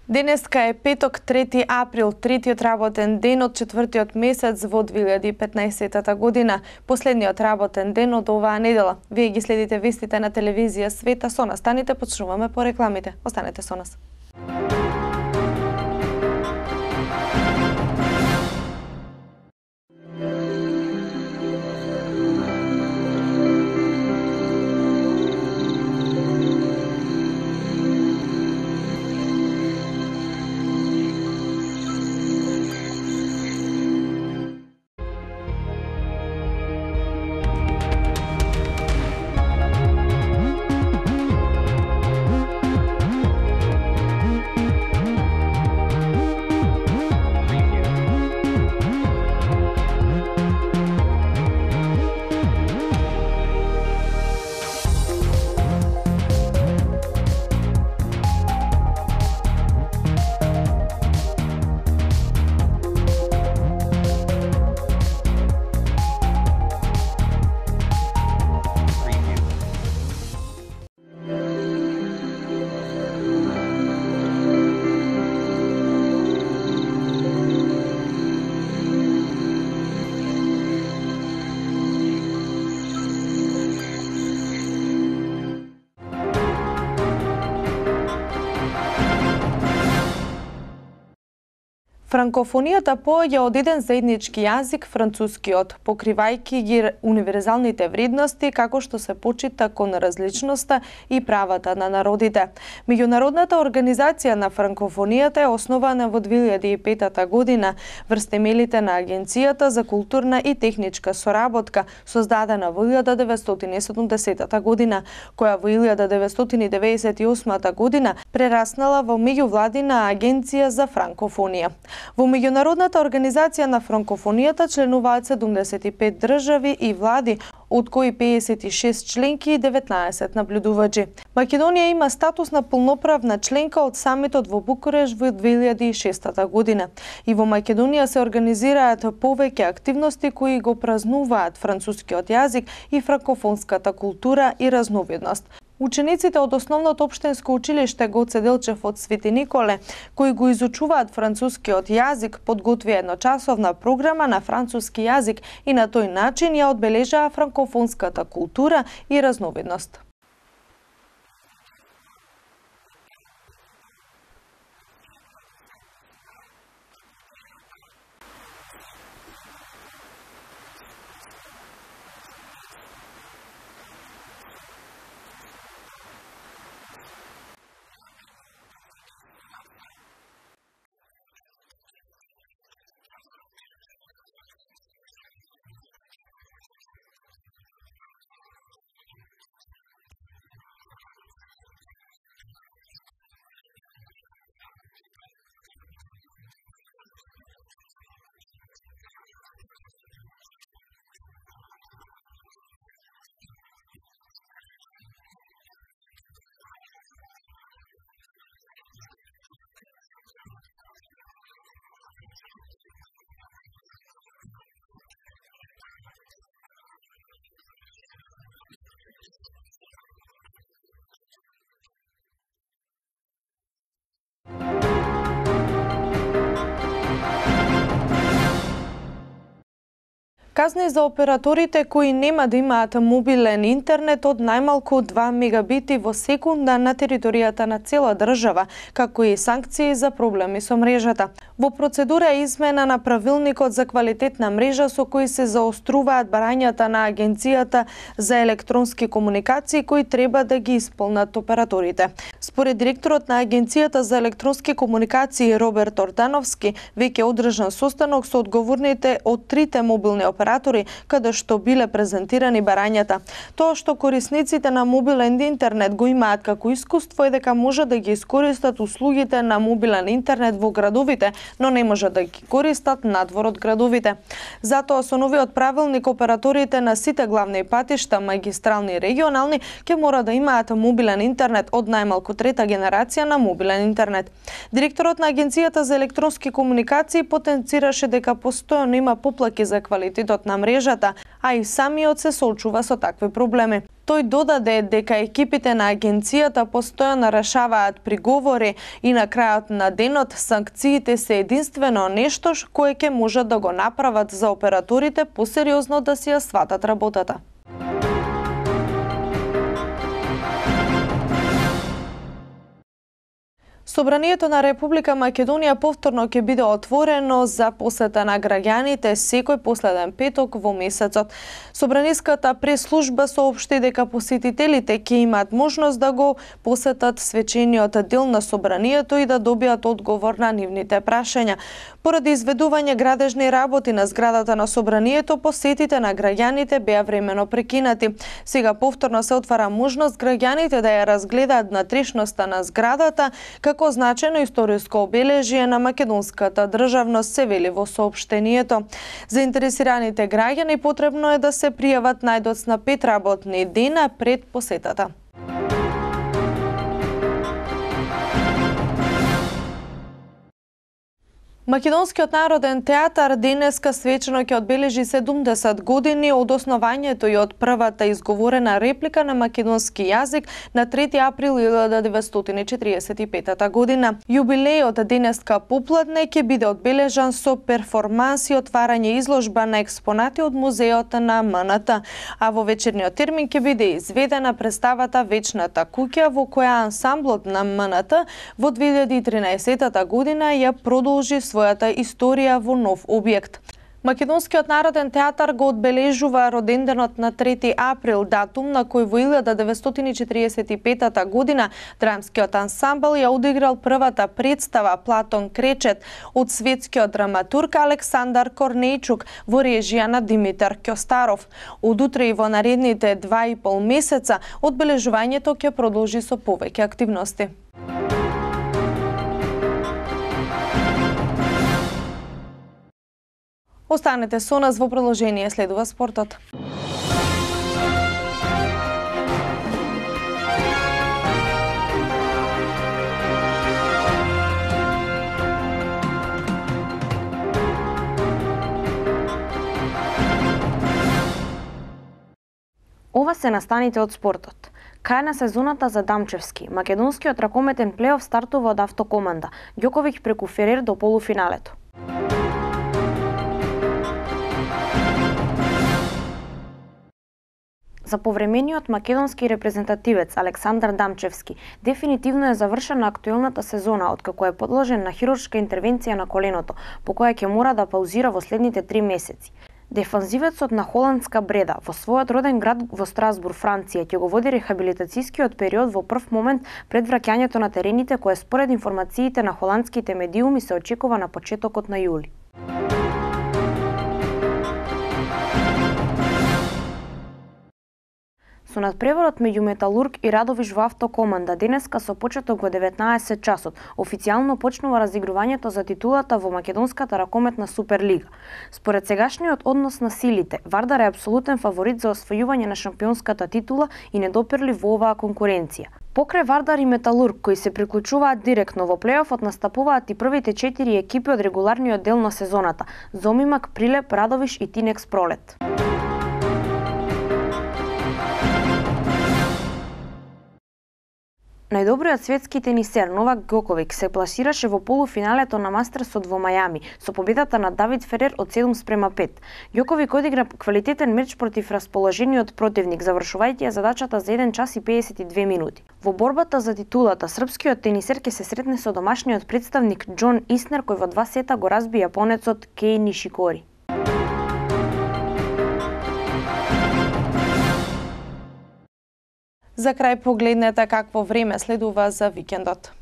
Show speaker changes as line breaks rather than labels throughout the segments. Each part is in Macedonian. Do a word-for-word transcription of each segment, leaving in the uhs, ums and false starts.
Денеска е петок, трети април, третиот работен ден од четвртиот месец во две илјади и петнаесетата година, последниот работен ден од оваа недела. Вие ги следите вестите на телевизија Света со нас. Станите, почнуваме по рекламите. Останете со нас. Франкофонијата поаѓа од еден заеднички јазик, францускиот, покривајќи ги универзалните вредности како што се почита кон различноста и правата на народите. Меѓународната организација на франкофонијата е основана во две илјади и петата година врз темелите на Агенцијата за културна и техничка соработка, создадена во илјада деветстотини и седумдесетата година, која во илјада деветстотини деведесет и осмата година прераснала во меѓувладина агенција за франкофонија. Во меѓународната организација на франкофонијата членуваат седумдесет и пет држави и влади, од кои пеесет и шест членки и деветнаесет наблюдувачи. Македонија има статус на полноправна членка од самитот во Букуреш во две илјади и шестата година. И во Македонија се организираат повеќе активности кои го празнуваат францускиот јазик и франкофонската култура и разновидност. Учениците од основното општинско училиште Гоце Делчев од Свети Николе, кои го изучуваат францускиот јазик, подготвија едночасовна програма на француски јазик и на тој начин ја одбележаа франкофонската култура и разновидност. Казни за операторите кои нема да имаат мобилен интернет од најмалку два мегабити во секунда на територијата на цела држава, како и санкции за проблеми со мрежата. Во процедура е измена на правилникот за квалитет на мрежа со кои се заоструваат барањата на Агенцијата за електронски комуникации кои треба да ги исполнат операторите. Според директорот на Агенцијата за електронски комуникации Роберт Ортановски, веќе одржан состанок со одговорните од трите мобилни оператори каде што биле презентирани барањата. Тоа што корисниците на мобилен интернет го имаат како искуство е дека може да ги искористат услугите на мобилен интернет во градовите, но не може да ги користат надвор од градовите. Затоа со новиот правилник операторите на сите главни патишта, магистрални и регионални, ќе мора да имаат мобилен интернет од најмалку трета генерација на мобилен интернет. Директорот на Агенцијата за електронски комуникации потенцираше дека постојано има поплаки за квалитетот на мрежата, а и самиот се соочува со такви проблеми. Тој додаде дека екипите на агенцијата постојано решаваат приговори и на крајот на денот санкциите се единствено нешто кое ќе можат да го направат за операторите посериозно да си ја сватат работата. Собранието на Република Македонија повторно ќе биде отворено за посета на граѓаните секој последен петок во месецот. Собраниската прес-служба соопшти дека посетителите ќе имаат можност да го посетат свечениот дел на собранието и да добијат одговор на нивните прашања. Поради изведување градежни работи на зградата на собранието, посетите на граѓаните беа времено прекинати. Сега повторно се отвара можност граѓаните да ја разгледаат внатрешноста на зградата како значено историско обележје на македонската државност, се вели во соопштението. Заинтересираните граѓани потребно е да се пријават најдоцна пет работни дена пред посетата. Македонскиот народен театар денеска свечено ќе одбележи седумдесет години од основањето и од првата изговорена реплика на македонски јазик на трети април илјада деветстотини четиридесет и петата година. Јубилејот денеска попладне ќе биде одбележан со перформанс и отварање изложба на експонати од музеот на М Н Т, а во вечерниот термин ќе биде изведена представата Вечната куќа, во која ансамблот на М Н Т во две илјади и тринаесетта година ја продолжи својата историја во нов објект. Македонскиот народен театар го одбележува роденденот на трети април, датум на кој во илјада деветстотини четиридесет и петата година драмскиот ансамбл ја одиграл првата представа Платон Кречет од светскиот драматург Александар Корнејчук во режија на Димитар Кјостаров. Од утре и во наредните два и пол месеца одбележувањето ќе продолжи со повеќе активности. Останете со нас, во продолжение следува спортот.
Ова се настаните од спортот. Крај на сезоната за Дамчевски. Македонскиот ракометен плейоф стартува од Автокоманда. Ѓоковиќ преку Ферер до полуфиналето. За повремениот македонски репрезентативец Александар Дамчевски дефинитивно е завршена актуелната сезона, откако е подложен на хируршка интервенција на коленото, по која ќе мора да паузира во следните три месеци. Дефанзивецот на холандска бреда во својот роден град во Страсбур, Франција, ќе го води рехабилитацијскиот период во прв момент пред враќањето на терените, кое според информациите на холандските медиуми се очекува на почетокот на јули. Со надпреварот меѓу Металург и Радовиш во Автокоманда денеска со почеток во деветнаесет часот официјално почнува разигрувањето за титулата во македонската ракометна Суперлига. Според сегашниот однос на силите, Вардар е апсолутен фаворит за освојување на шампионската титула и недопирлив во оваа конкуренција. Покрај Вардар и Металург, кои се приклучуваат директно во плейофот, настапуваат и првите четири екипи од регуларниот дел на сезоната: Зомимак, Прилеп, Радовиш и Тинекс Пролет. Најдобриот светски тенисер Новак Ѓоковиќ се пласираше во полуфиналето на Мастерсот во Мајами со победата над Давид Ферер од седум спрема пет. Ѓоковиќ одигра квалитетен меч против расположениот противник, завршувајќи ја задачата за еден час и педесет и две минути. Во борбата за титулата, српскиот тенисер ќе се сретне со домашниот представник Џон Иснер, кој во два сета го разби јапонецот Кеј Нишикори.
За крај погледнете какво време следува за викендот.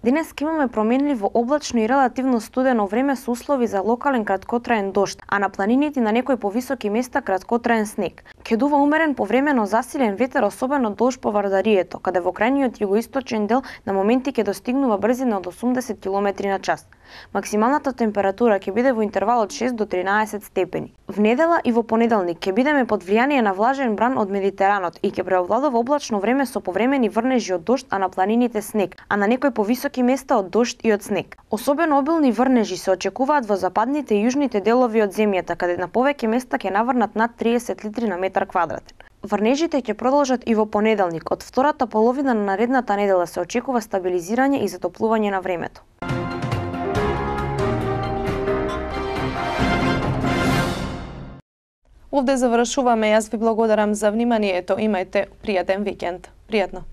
Денес ке имаме променливо облачно и релативно студено време со услови за локален краткотраен дожд, а на планините и на некои повисоки места краткотраен снег. Ке дува умерен повремено засилен ветер, особено долж по Вардарието, каде во крајниот југоисточен дел на моменти ќе достигнува брзина од осумдесет километри на час. Максималната температура ќе биде во интервал од шест до тринаесет степени. В недела и во понеделник ќе бидеме под влијание на влажен бран од Медитеранот и ќе преовладува облачно време со повремени врнежи од дожд, а на планините снег, а на некои повисоки места од дожд и од снег. Особено обилни врнежи се очекуваат во западните и јужните делови од земјата, каде на повеќе места ќе наврнат над триесет литри на метар квадратен. Врнежите ќе продолжат и во понеделник. Од втората половина на наредната недела се очекува стабилизирање и затоплување на времето.
Овде завршуваме. Јас ви благодарам за вниманието. Имајте пријатен викенд. Пријатно.